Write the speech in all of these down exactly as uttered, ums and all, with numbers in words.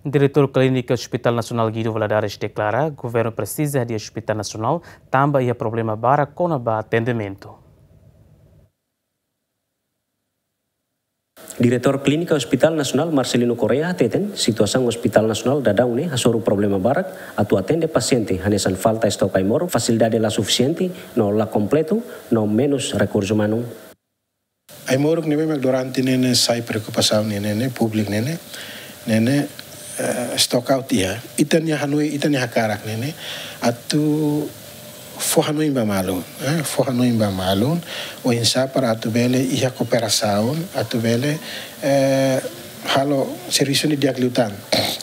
Diretór Klínika Hospital Nasionál Guido Valadares deklara, governu presiza hadi'a Hospital Nasionál tanba iha problema barak kona-ba atendimentu. Diretór Klínika Hospital Nasionál Marcelino Correia hateten, situasaun Hospital Nasionál daudaun ne'e hasoru problema barak atu atende pasiente, hanesan falta estok ai-moruk, fasilidade la sufisiente no la kompletu, no menus rekursu umanu. Ai-moruk ne'ebé mak durante ne'e ne'e sai preokupasaun ne'e ne'e, públiku ne'e ne'e, ne'e ne'e, eh, stock out iha. Ita-nia hanoin, ita-nia hakarak ne'e ne'e atu fó hanoin ba malu, eh, fó hanoin ba malu, oinsá para atu bele iha kooperasaun, atu bele, eh, halo servisu ne'e di'ak liután.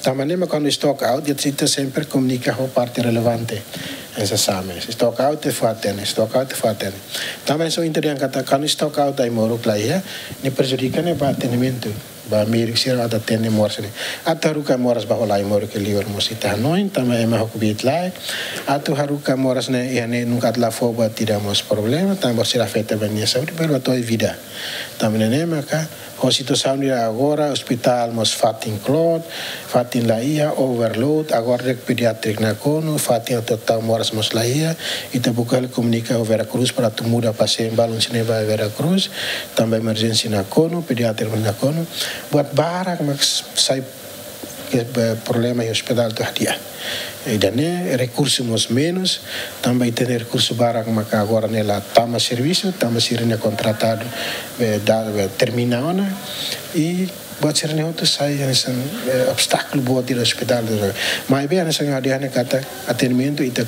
Tanba ne'e mak kuandu stock out, ita, ita sempre komunika ho parte relevante. Hanesan SAMES. Stock out ita fó hatene, stock out ita fó hatene. Tanba ne'e só interlian katak, kuandu stock out ai-moruk la iha, ne'e prejudika ne'e ba atendimentu, ba médiku sira atu atende moras ne'e. Atu haruka moras ba hola ai-moruk ke liur mós ita hanoin, tanba ema ho covid lai. Atu haruka moras ne'e, iha ne'e nunka atu la fó buat ida mós problema, tanba sira afeta ba nia saúde, pero atu ai vida. Tanba ne'e ne'e maka, ho situasaun ida agora, ospitál mós fatin kloot, fatin la iha, overload, agora de'it pediatrik nakonu, fatin atu tau moras mós la iha, ita buka hela komunika ho Vera Cruz para atu muda pasiente balun sira-ne'e ba Vera Cruz, tanba emerjénsia nakonu, pediatrik mós nakonu, buat barak mak sai ke, eh, problema iha ospitál atu hadi'a. Ida-ne'e rekursu mós menus, tanba ita-nia rekursu barak maka agora ne'e la tama servisu, tanba sira-nia kontratadu, eh, da, eh, termina ona, i buat sira-ne'e hotu sai hanesan, eh, obstákulu boot iha ospitál. Maibé hanesan ha'u dehan ne'e katak atendimentu ita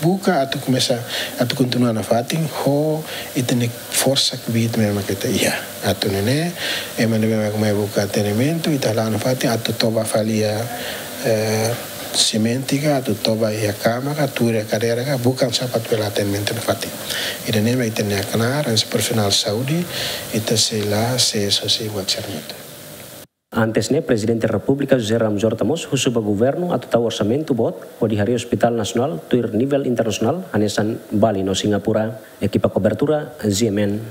buka atu komesa, atu kontinua nafatin, ho ita-nia forsa kbiit ne'ebé mak ita iha. Atu nune'e, ema ne'ebé mak mai buka atendimentu, ita hala'o nafatin, atu toba fali iha, eh, simente ka, atu toba iha kama ka, tuur iha kadeira ka, buka oinsá para atu bele atendimentu nafatin. Ida-ne'e mak ita-nia knaar, hanesan profisionál saúde, ita sei la, sei sosiu buat sira-ne'e hotu. Antes ne'e, Prezidente Repúblika José Ramos Horta mós husu ba governu atu tau orsamentu boot hodi harii Hospital Nasionál tuir nivel internasionál hanesan Bali no Singapura. Ekipa kobertura, G M N.